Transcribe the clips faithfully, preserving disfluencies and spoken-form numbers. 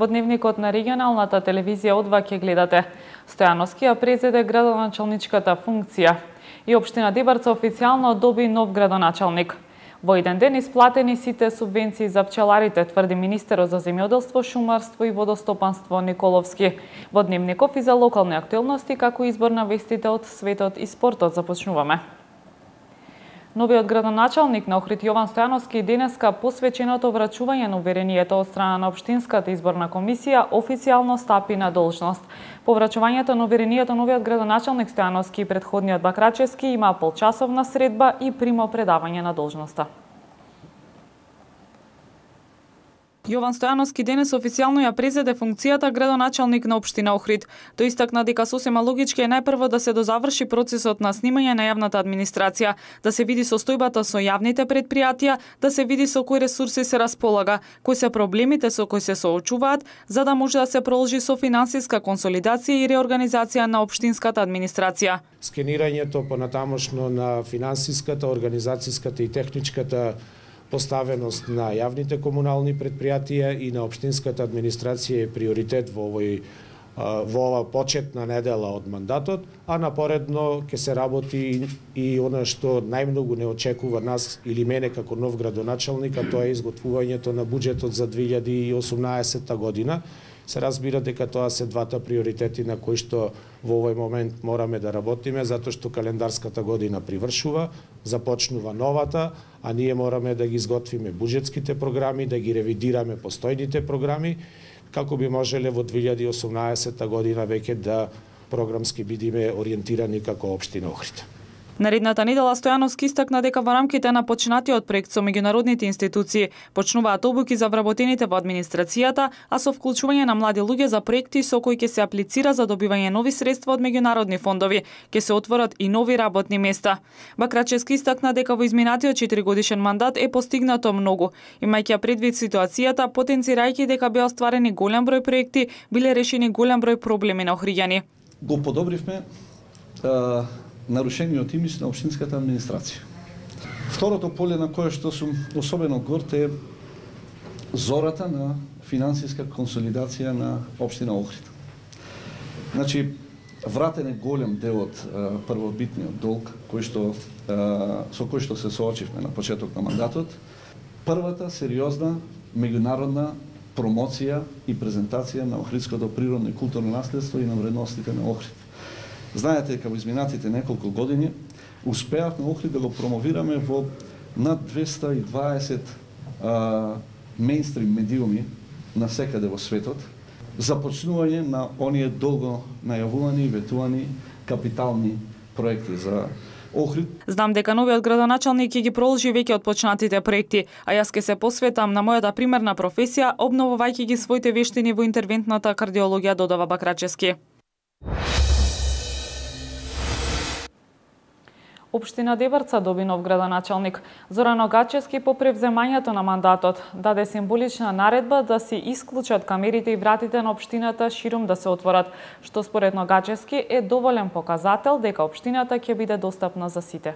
Во дневникот на регионалната телевизија од два ќе гледате. Стојановски ја презеде градоначалничката функција и општина Дебарца официјално доби нов градоначалник. Во еден ден исплатени сите субвенции за пчеларите, тврди министерот за земјоделство, шумарство и водостопанство Николовски. Во дневников и за локални актуелности, како избор на вестите од светот и спортот започнуваме. Новиот градоначалник на Охрид Јован Стојановски денеска посвеченото врачување на уверението од страна на Општинската изборна комисија официјално стапи на должност. По врачувањето на уверението новиот градоначалник Стојановски и претходниот Бакрачевски има полчасовна средба и примо предавање на должноста. Јован Стојановски денес официјално ја презеде функцијата градоначалник на општина Охрид. Тој истакна дека сосема логички е најпрво да се дозаврши процесот на снимање на јавната администрација, да се види состојбата со јавните предпријатија, да се види со кои ресурси се располага, кои се проблемите со кои се соочуваат, за да може да се продолжи со финансиска консолидација и реорганизација на општинската администрација. Скенирањето понатамошно на финансиската, организацијската и техничката поставеност на јавните комунални предпријатија и на општинската администрација е приоритет во овој во ова почетна недела од мандатот, а напоредно ќе се работи и она што најмногу не очекува нас или мене како нов градоначалник, а тоа е изготвувањето на буџетот за две илјади и осумнаесетта година. Се разбира дека тоа се двата приоритети на кои што во овој момент мораме да работиме, затоа што календарската година привршува, започнува новата, а ние мораме да ги изготвиме буџетските програми, да ги ревидираме постојните програми, како би можеле во две илјади и осумнаесетта година веќе да програмски бидиме ориентирани како општина Охрид. Наредната недела Стојановски истакна дека во рамките на почнатиот проект со меѓународните институции почнуваат обуки за вработените во администрацијата, а со вклучување на млади луѓе за проекти со кои ќе се аплицира за добивање нови средства од меѓународни фондови, ќе се отворат и нови работни места. Бакрачевски истакна дека во изминатиот четиригодишен мандат е постигнато многу, имајќи предвид ситуацијата, потенцирајќи дека беа остварени голем број проекти, биле решени голем број проблеми на охриѓани. Го подобривме а... нарушениот имидж на општинската администрација. Второто поле на кое што сум особено горд е зората на финансиска консолидација на општина Охрид. Значи, вратен е голем дел од првобитниот долг кој што а, со кој што се соочивме на почеток на мандатот. Првата сериозна меѓународна промоција и презентација на охридското природно и културно наследство и на вредностите на Охрид. Знаете дека во изминатите неколку години успеавме Охрид да го промовираме во над двеста и дваесет а, мејнстрим медиуми насекаде во светот, започнување на оние долго најавувани и ветувани капитални проекти за Охрид. Знам дека новиот градоначалник ќе ги продолжи веќе отпочнатите проекти, а јас ќе се посветам на мојата примерна професија, обновувајќи ги своите вештини во интервентната кардиологија, додава Бакрачевски. Општина Дебарца доби нов градоначалник. Зоран Огачевски по превземањето на мандатот даде символична наредба да се исклучат камерите и вратите на општината ширум да се отворат, што според Огачевски е доволен показател дека општината ќе биде достапна за сите.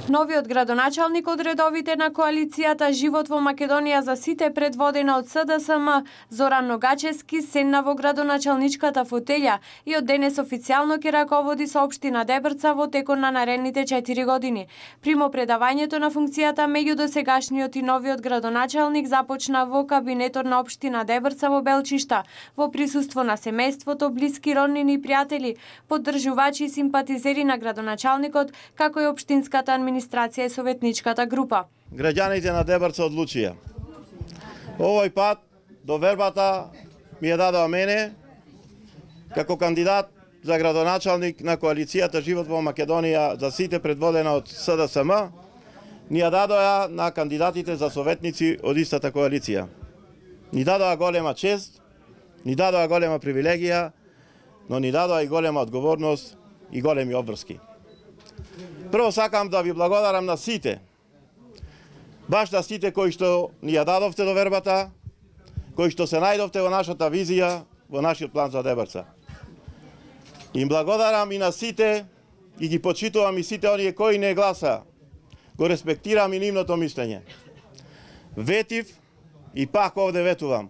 Новиот градоначалник од редовите на коалицијата Живот во Македонија за сите, предводена од С Д С М, Зоран Ногачевски, седна во градоначалничката фотелја и од денес официјално ќе раководи со општина Дебарца во текот на наредните четири години. Примо предавањето на функцијата меѓу досегашниот и новиот градоначалник започна во кабинетот на општина Дебарца во Белчишта, во присуство на семејството, блиски роднини и пријатели, поддржувачи и симпатизери на градоначалникот, како и општинската администрација и советничката група. Граѓаните на Дебарца одлучија. Овој пат довербата ми ја дадоа мене како кандидат за градоначалник на коалицијата Живот во Македонија за сите, предводена од С Д С М, ни ја дадоа на кандидатите за советници од истата коалиција. Ни дадоа голема чест, ни дадоа голема привилегија, но ни дадоа и голема одговорност и големи обврски. Прво сакам да ви благодарам на сите, баш на сите кои што ни ја дадовте довербата, кои што се најдовте во нашата визија, во нашиот план за Дебарца. Им благодарам и на сите и ги почитувам и сите оние кои не гласа. Го респектирам и нивното мислење. Ветив и пак овде ветувам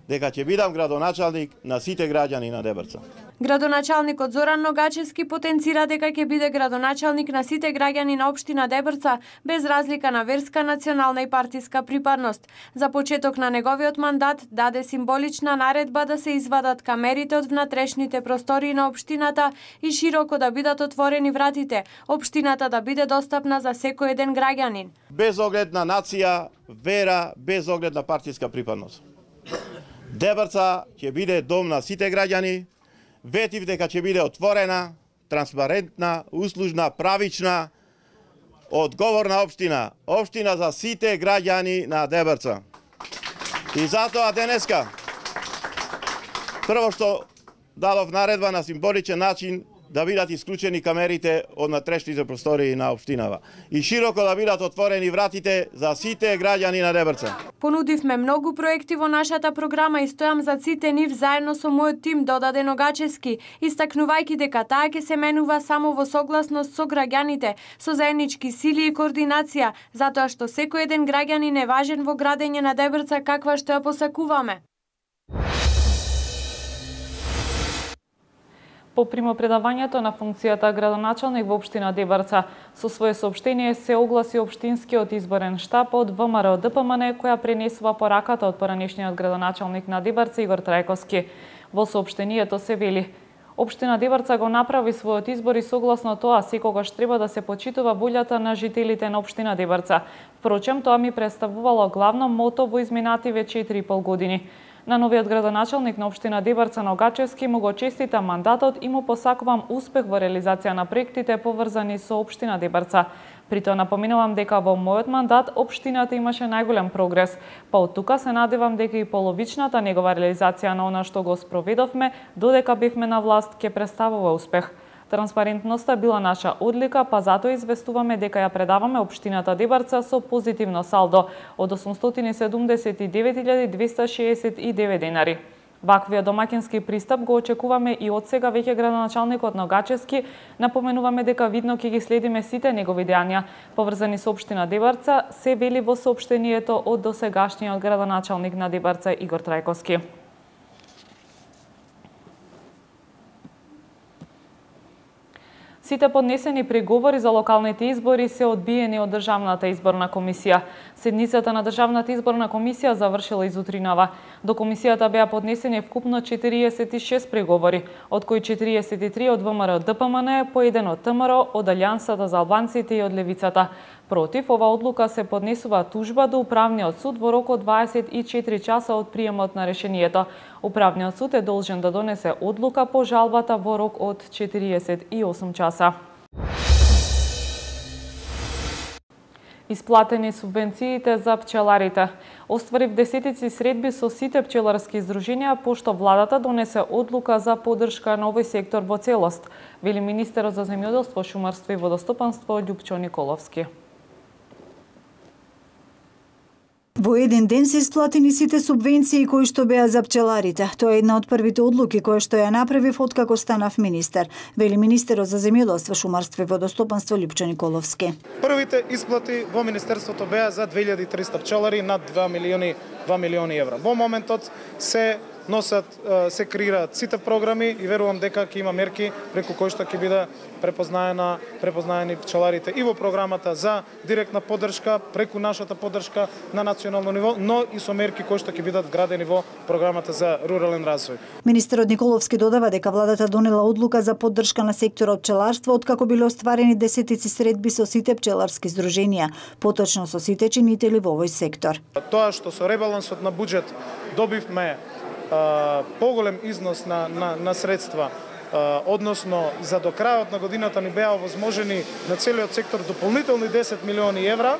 дека ќе бидам градоначалник на сите граѓани на Дебрца. Градоначалникот Зоран Ногачевски потенцира дека ќе биде градоначалник на сите граѓани на општина Дебрца без разлика на верска, национална и партиска припадност. За почеток на неговиот мандат даде символична наредба да се извадат камерите од внатрешните простории на општината и широко да бидат отворени вратите, општината да биде достапна за секој еден граѓанин. Без оглед на нација, вера, без оглед на партиска припадност. Дебрца ќе биде дом на сите граѓани. Ветив дека ќе биде отворена, транспарентна, услужна, правична, одговорна општина. Општина за сите граѓани на Дебрца. И затоа денеска, прво што дадов наредба на символичен начин да бидат исклучени камерите од натрешните простории на општинава и широко да бидат отворени вратите за сите граѓани на Дебрца. Понудивме многу проекти во нашата програма и стојам за сите нив заедно со мојот тим, додаде Ногачевски, истакнувајќи дека таа ќе се менува само во согласност со граѓаните, со заеднички сили и координација, затоа што секој еден граѓанин е важен во градење на Дебрца каква што ја посакуваме. По примопредавањето на функцијата градоначалник во општина Дебрца, со свое соопштение се огласи општинскиот изборен штаб од ВМРО Д П М Н, која пренесува пораката од поранешниот градоначалник на Дебрца Игор Трајковски. Во соопштението се вели: општина Дебрца го направи својот избор и согласно тоа секогаш треба да се почитува волјата на жителите на општина Дебрца. Впрочем, тоа ми представувало главно мото во изминативе четири и пол години. На новиот градоначалник на општина Дебрца Ногачевски му го честита мандатот и му посакувам успех во реализација на проектите поврзани со општина Дебрца. При тоа напоминувам дека во мојот мандат општината имаше најголем прогрес, па од тука се надевам дека и половичната негова реализација на она што го спроведовме додека бевме на власт ќе представува успех. Транспарентноста била наша одлика, па затоа известуваме дека ја предаваме општината Дебрца со позитивно салдо од осумстотини и седумдесет и девет илјади двесте шеесет и девет денари. Ваквиот домаќински пристап го очекуваме и од сега веќе градоначалникот Ногачевски. Напоменуваме дека видно ќе ги следиме сите негови дејања поврзани со општина Дебрца, се вели во соопштението од досегашниот градоначалник на Дебрца Игор Трајковски. Сите поднесени приговори за локалните избори се одбиени од Државната изборна комисија. Седницата на Државната изборна комисија завршила изутринава. До комисијата беа поднесени вкупно четириесет и шест приговори, од кои четириесет и три од ВМРО Д П М Н, по еден од Т М Р, од Алијансата за албанците и од Левицата. Против ова одлука се поднесува тужба до Управниот суд во рок од дваесет и четири часа од приемот на решението. Управниот суд е должен да донесе одлука по жалбата во рок од четириесет и осум часа. Исплатени субвенциите за пчеларите. Остварив десетици средби со сите пчеларски издруженија, пошто владата донесе одлука за поддршка на овој сектор во целост, вели министерот за земјоделство, шумарство и водостопанство Љупчо Николовски. Во еден ден се исплатени сите субвенции кои што беа за пчеларите. Тоа е една од првите одлуки која што ја направив откако станав министер, вели министерот за земјоделство, шумарство и водостопанство Љупчо Николовски. Првите исплати во министерството беа за две илјади и триста пчелари над два милиони, два милиони евра. Во моментот се носат, се креираат сите програми и верувам дека ќе има мерки преку кои што ќе биде препознаена, препознаени пчеларите и во програмата за директна поддршка, преку нашата поддршка на национално ниво, но и со мерки кои што ќе бидат вградени во програмата за рурален развој. Министерот Николовски додава дека владата донела одлука за поддршка на секторот пчеларство откако биле остварени десетици средби со сите пчеларски здруженија, поточно со сите чинители во овој сектор. Тоа што со ребалансот на буџет добивме поголем износ на, на, на средства, односно за до крајот на годината ни беа овозможени на целиот сектор дополнителни десет милиони евра,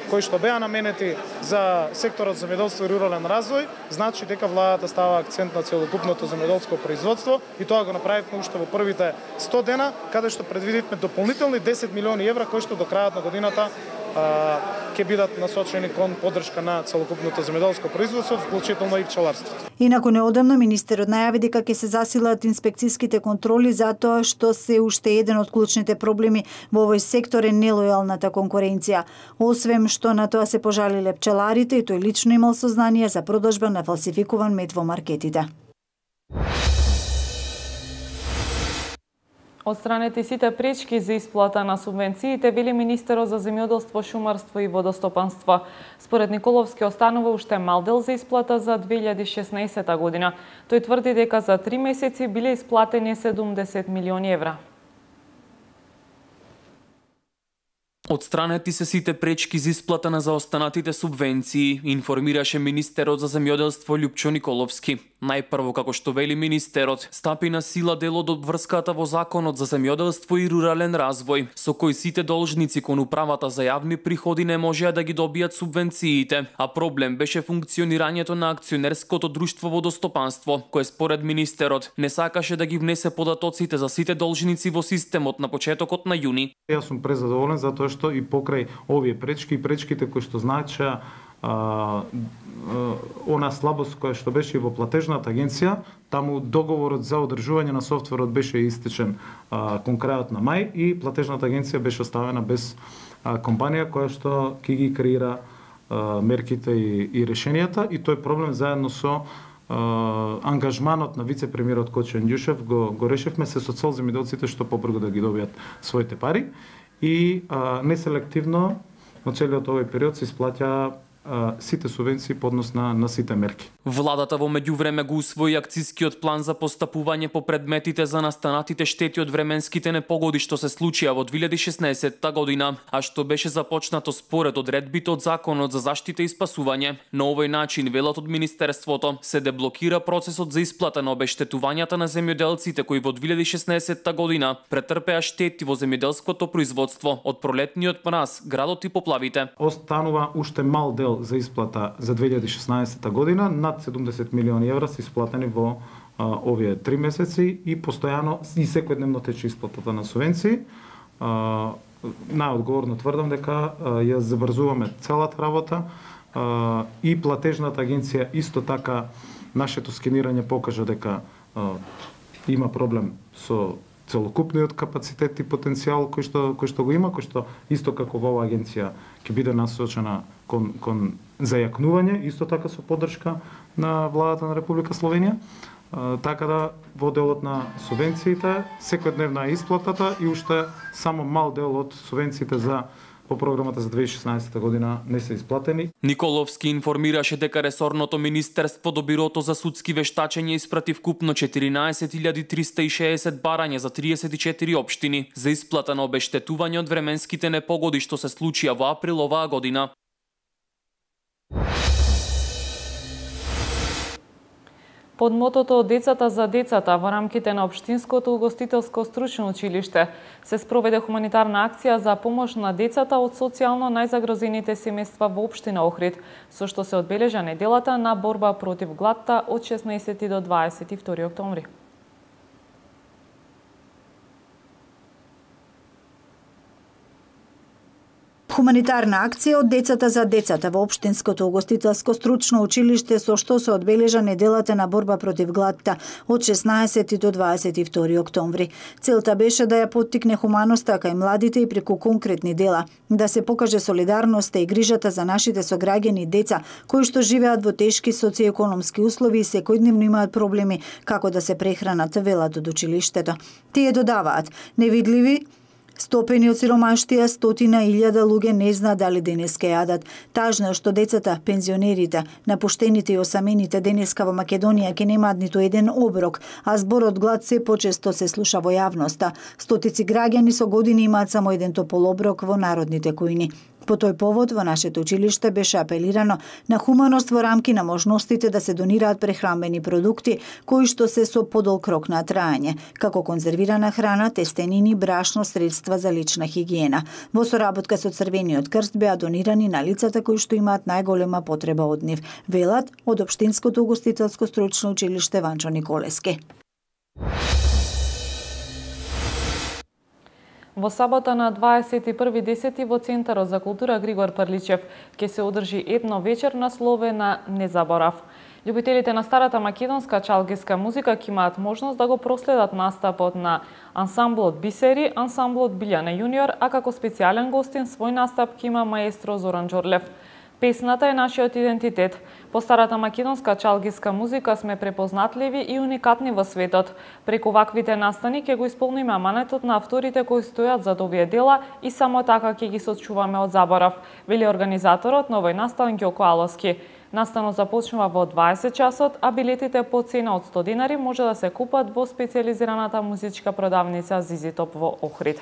кои што беа наменети за секторот земјоделство и рурален развој, значи дека владата става акцент на целокупното земјоделско производство и тоа го направивме уште во првите сто дена, каде што предвидивме дополнителни десет милиони евра кои што до крајот на годината ќе бидат насочени кон поддршка на целокупното земјоделско производство, вклучително и пчеларството. Инаку неодамно министерот најави дека ќе се засилат инспекцијските контроли затоа што се уште еден од клучните проблеми во овој сектор е нелојалната конкуренција. Освен што на тоа се пожалиле пчеларите и тој лично имал сознание за продажба на фалсификуван мед во маркетите. Отстранети сите пречки за исплата на субвенциите, вели министерот за земјоделство, шумарство и водостопанство. Според Николовски останува уште мал дел за исплата за две илјади и шеснаесетта година. Тој тврди дека за три месеци биле исплатени седумдесет милиони евра. Отстранети се сите пречки за исплата на заостанатите субвенции, информираше министерот за земјоделство Љупчо Николовски. Најпрво, како што вели министерот, стапи на сила делот од врската во Законот за земјоделство и рурален развој, со кој сите должници кон управата за јавни приходи не можеа да ги добијат субвенциите, а проблем беше функционирањето на акционерското друштво водостопанство, кое според министерот не сакаше да ги внесе податоците за сите должници во системот на почетокот на јуни. Јас сум презадоволен затоа што и покрај овие пречки и пречките кои што значеа А, а, она слабост која што беше и во платежната агенција, таму договорот за одржување на софтверот беше истечен а, кон крајот на мај и платежната агенција беше оставена без а, компанија која што ќе ги креира а, мерките и, и решенијата, и тој проблем заедно со а, ангажманот на вице-премиерот Кочо Јанѓушев го, го решивме се со цел земјоделците што побрзо да ги добијат своите пари и а, неселективно во целиот овој период се исплаќа сите субвенции по однос на, на сите мерки. Владата во меѓувреме го усвои акцискиот план за постапување по предметите за настанатите штети од временските непогоди што се случија во две илјади и шеснаесетта година, а што беше започнато според одредбите од Законот за заштита и спасување. На овој начин, велат од министерството, се деблокира процесот за исплата на обештетувањата на земјоделците кои во две илјади и шеснаесетта година претрпеа штети во земјоделското производство од пролетниот мраз, градот и поплавите. Останува уште мал дел за исплата за две илјади и шеснаесетта година, над седумдесет милиони евра се исплатени во а, овие три месеци и постојано и секојдневно тече исплатата на субвенции. А, најодговорно тврдам дека а, ја забрзуваме целата работа а, и платежната агенција исто така нашето скенирање покажа дека а, има проблем со целокупниот капацитет и потенцијал кој што кој што го има, кој што исто како во оваа агенција ќе биде насочена кон кон зајакнување, исто така со поддршка на владата на Република Словенија. А, така да во делот на субвенциите секојдневна е исплатата и уште само мал дел од субвенциите за по програмата за две илјади и шеснаесетта година не се исплатени. Николовски информираше дека ресорното министерство до Бирото за судски вештачење испрати вкупно четиринаесет илјади триста и шеесет барања за триесет и четири општини за исплата на обештетување од временските непогоди што се случија во април оваа година. Под мотото "Децата за децата" во рамките на Општинското угостителско стручно училиште се спроведе хуманитарна акција за помош на децата од социјално најзагрозените семејства во општина Охрид, со што се одбележа неделата на борба против гладта од шеснаесети до дваесет и втори октомври. Хуманитарна акција од Децата за децата во Општинското угостителско стручно училиште со што се одбележа неделата на борба против гладта од шеснаесети до дваесет и втори октомври. Целта беше да ја поттикне хуманоста кај младите и преку конкретни дела, да се покаже солидарноста и грижата за нашите сограѓани деца кои што живеат во тешки социјекономски услови и секојдневно имаат проблеми како да се прехранат, велат од училиштето. Тие додаваат: невидливи стопени од сиромаштија, стотина илјада луѓе не знаат дали денес ке јадат. Тажно е што децата, пензионерите, напуштените и осамените денеска во Македонија ке немаат ниту еден оброк, а зборот глад се почесто се слуша во јавноста. Стотици граѓани со години имаат само еден топол оброк во народните кујни. По тој повод во нашето училиште беше апелирано на хуманост во рамки на можностите да се донираат прехранбени продукти кои што се со подолг рок на траење, како конзервирана храна, тестенини, брашно, средства за лична хигиена. Во соработка со Црвениот крст беа донирани на лицата кои што имаат најголема потреба од нив, велат од Општинското угостителско стручно училиште Ванчо Николески. Во сабота на дваесет и први десети во Центарот за култура Григор Прличев ќе се одржи етно вечер насловена Не заборав. Љубителите на старата македонска чалгиска музика ќе имаат можност да го проследат настапот на ансамблот Бисери, ансамблот Билјана Јуниор, а како специјален гостин свој настап ќе има маестро Зоран Џорлев. Песната е нашиот идентитет. По старата македонска чалгиска музика сме препознатливи и уникатни во светот. Преку ваквите настани ќе го исполниме аманетот на авторите кои стојат зад овие дела и само така ќе ги сочуваме од заборав, вели организаторот на овој настан Ѓоко Аловски. Настанот започнува во дваесет часот, а билетите по цена од сто динари може да се купат во специјализираната музичка продавница Зизитоп во Охрид.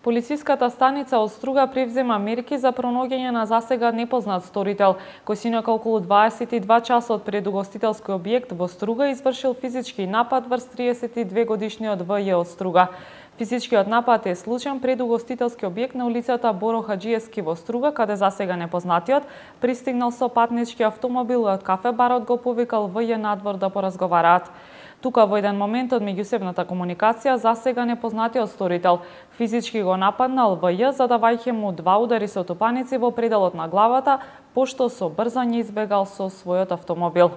Полициската станица од Струга превзема мерки за пронаоѓање на засега непознат сторител, кој синоќа околу дваесет и два часот пред угостителски објект во Струга извршил физички напад врз триесет и две годишниот В Ј од Струга. Физичкиот напад е случаен пред угостителски објект на улицата Боро Хаџиевски во Струга, каде засега непознатиот пристигнал со патнички автомобил од кафе барот го повикал В Ј надвор да поразговараат. Тука во еден момент од меѓусебната комуникација засега непознатиот сторител физички го нападнал В Ј, задавајќи му два удари со тупаници во пределот на главата, пошто со брзање избегал со својот автомобил.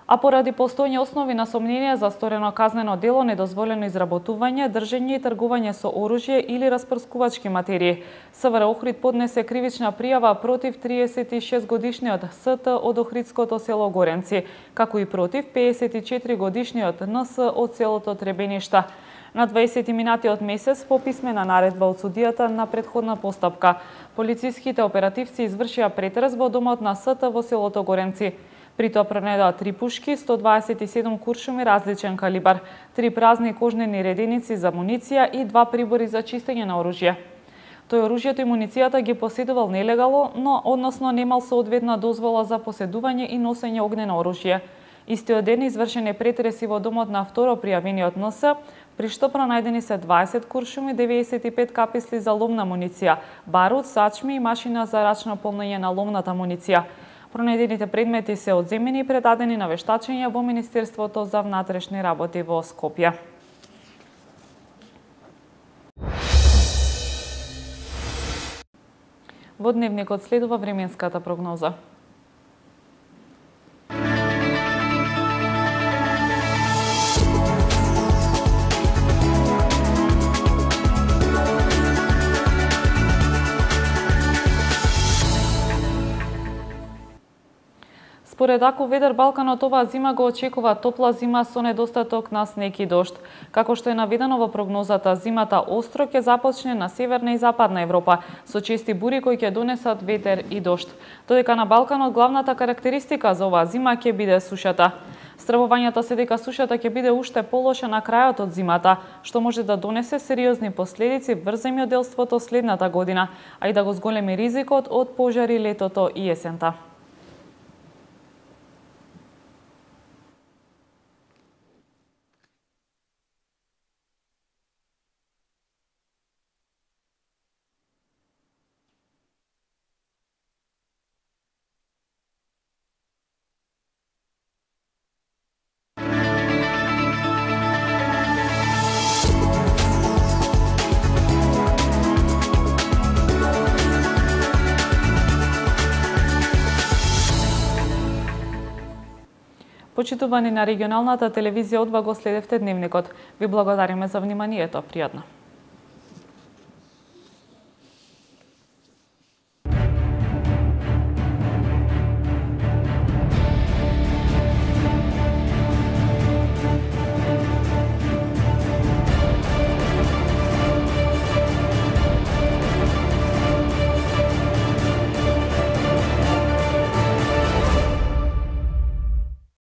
А поради постојни основи на сомнение за сторено казнено дело, недозволено изработување, држење и тргување со оружје или распрскувачки материи, СВР Охрид поднесе кривична пријава против триесет и шест годишниот С Т од охридското село Горенци, како и против пеесет и четири годишниот Н С од селото Требеништа. На дваесети минатиот месец, по писмена наредба од судијата на претходна постапка, полициските оперативци извршија претрес во домот на С Т во селото Горенци. При тоа пронедоа три пушки, сто дваесет и седум куршуми различен калибар, три празни кожнени реденици за муниција и два прибори за чистење на оружје. Тој оружјето и муницијата ги поседувал нелегално, но односно немал соодветна дозвола за поседување и носење огнено оружје. Истиот ден извршен е претреси во домот на второ пријавениот Н С, при што пронајдени се дваесет куршуми, деветдесет и пет каписли за ловна муниција, барут, сачми и машина за рачно полнење на ловната муниција. Пронајдените предмети се одземени и предадени на вештачење во Министерството за внатрешни работи во Скопје. Во дневникот следува временската прогноза. Според Аку Ведер Балканот, оваа зима го очекува топла зима со недостаток на снег и дожд. Како што е наведено во прогнозата, зимата остро ќе започне на северна и западна Европа, со чести бури кои ќе донесат ветер и дожд. Додека на Балканот главната карактеристика за оваа зима ќе биде сушата. Стравувањето се дека сушата ќе биде уште полоша на крајот од зимата, што може да донесе сериозни последици врз земјоделството следната година, а и да го зголеми ризикот од пожари летото и есента. Почитувани на регионалната телевизија, одва го следевте дневникот. Ви благодариме за вниманието. Пријатно.